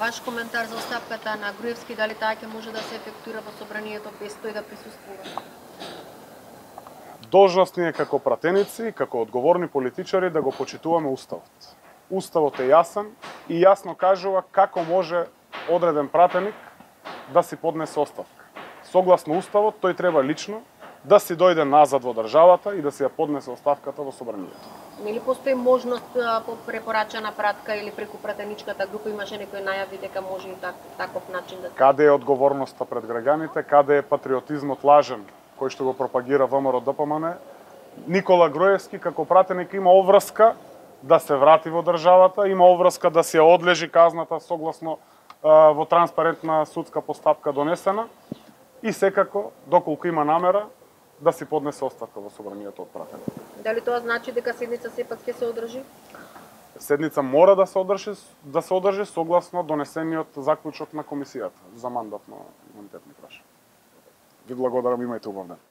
Ваш коментар за оставката на Груевски, дали таа ќе може да се ефектуира во собранието без тој да присуствува? Должност ни е како пратеници, како одговорни политичари да го почитуваме Уставот. Уставот е јасен и јасно кажува како може одреден пратеник да си поднесе оставка. Согласно Уставот, тој треба лично да си дојде назад во државата и да си ја поднесе оставката во собранието. Нели постои можност по препорачана пратка или преку пратеничката група? Имаше некои најави дека може и таков начин да... Каде е одговорноста пред граѓаните, каде е патриотизмот лажен, кој што го пропагира ВМРО ДПМН? Никола Груевски како пратеник има обврска да се врати во државата, има обврска да се одлежи казната согласно во транспарентна судска постапка донесена и секако, доколку има намера, да си поднесе оставка во собранието од пратеник. Дали тоа значи дека седница сепак ќе се одржи? Седница мора да се одржи согласно донесениот заклучок на комисијата за мандатно имунитетни прашања. Ви благодарам, имајте убав ден.